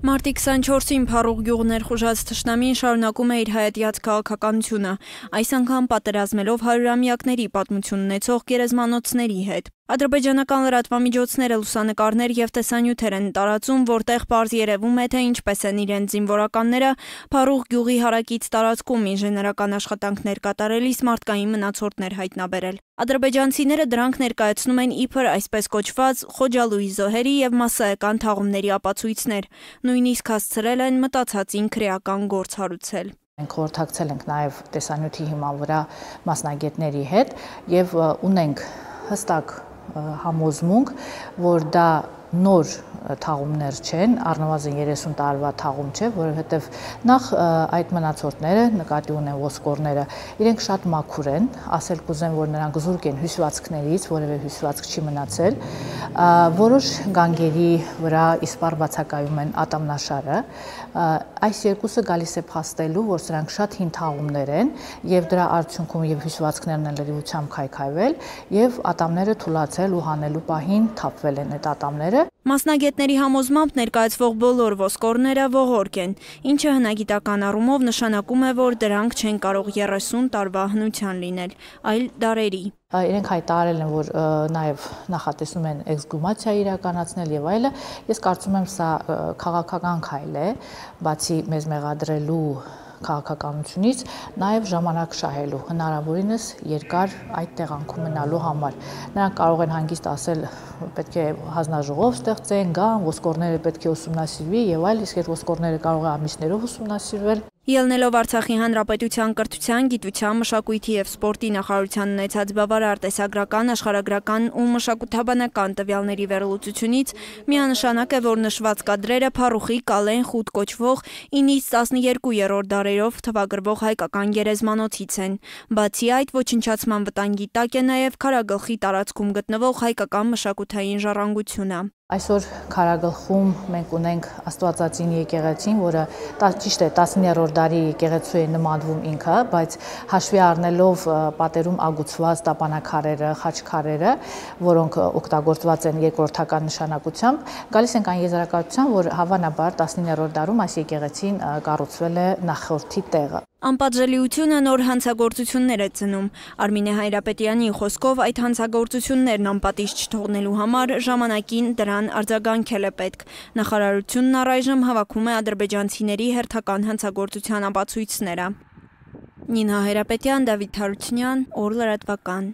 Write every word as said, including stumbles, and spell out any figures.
Մարտի քսանչորսին Փառուղ գյուղ ներխուժած թշնամին շարունակում է իր հայատյաց քաղաքականությունը, այս անգամ պատերազմելով հարյուրամյակների պատմություն ունեցող գերեզմանոցների հետ։ Ադրբեջանական լրատվամիջոցները լուսանկարներ և տեսանյութեր են տարածում, որտեղ պարզ երևում է, թե ինչպես են իրենց զինվորականները Փառուղ գյուղի հարակից տարածքում ինժեներական աշխատանքներ կատարելիս մարդկային մնացորդներ հայտնաբերել։ Ադրբեջանցիները դրանք ներկայացնում են իբր այսպես կոչված Խոջալույի զոհերի և մասսայական թաղումների ապացույցներ, նույնիսկ հասցրել են մտածածին քրեական գործ հարուցել։ Մենք խորհրդակցել ենք նաև տեսանյութի հիման վրա մասնագետների հետ և ունենք հստակ համոզմունք, որ դա նոր թաղումներ չեն, առնվազն երեսուն տարվա թաղում չէ, որովհետև նախ այդ մնացորդները, նկատի ունեն ոսկորները, իրենք շատ մաքուր են, ասել կուզեմ, որ նրանք զուրկ են հյուսվածքներից, որևէ հյուսվածք չի մնացել, որոշ գանգերի վրա իսպառ բացակայում են ատամնաշարը, այս երկուսը գալիս է փաստելու, որ սրանք շատ հին թաղումներ են և դրա արդյունքում և հյուսվածքներն են լրիվությամբ քայքայվել և ատամները թուլացել ու հանելու պահին թափվել են այդ ատամները։ Մասնագետների համոզմամբ ներկայացվող բոլոր ոսկորները ողորկ են, ինչը հնագիտական առումով նշանակում է, որ դրանք չեն կարող երեսուն տարվա հնության լինել, այլ դարերի։ Իրենք հայտարարել են, որ նաև նախատեսում են էքսգումացիա իրականացնել եւ այլը։ Ես կարծում եմ, սա քաղաքական քայլ է, բացի մեզ մեղադրելու քաղաքականությունից, նաև ժամանակ շահելու, հնարավորինս երկար այդ տեղանքում մնալու համար։ Նրանք կարող են հանգիստ ասել, պետք է հանձնաժողով ստեղծեն, գան, ոսկորները պետք է ուսումնասիրվի եւ այլ, իսկ այդ ոսկորները կարող է ամիսներով ուսումնասիրվել։ Ելնելով Արցախի Հանրապետության կրթության, գիտության, մշակույթի և սպորտի նախարարության ունեցած բավարար տեսագրական, աշխարհագրական ու մշակութաբանական տվյալների վերլուծությունից միանշանակ է, որ նշված կադրերը Փառուխի Կալեն խութ կոչվող ինից տասներկուերորդ դարերով թվագրվող հայկական գերեզմանոցից են։ Բացի այդ, ոչնչացման վտանգի տակ է նաև Քարագլխի տարածքում գտնվող հայկական մշակութային ժառանգությունը։ Այսօր Քարագլխում մենք ունենք Աստվածածին եկեղեցին, որը ճիշտ է տասներորդ դարի եկեղեցու է նմանվում ինքը, բայց հաշվի առնելով պատերում ագուցված տապանաքարերը, խաչքարերը, որոնք օգտագործված են երկրորդական նշանակությամբ, գալիս ենք այն եզրակացության, որ հավանաբար տասներորդ դարում այս եկեղեցին կառուցվել է նախորդի տեղը։ Անպատժելիությունը նոր հանցագործություններ է ծնում։ Արմինե Հայրապետյանի խոսքով այդ հանցագործություններն անպատիժ չթողնելու համար ժամանակին դրան արձագանքել է պետք։ Նախարարությունն առայժմ հավաքում է ադրբեջանցիների հերթական հանցագործության ապացույցները։ Նինա Հայրապետյան, Դավիթ Հարությունյան, Օր լրատվական։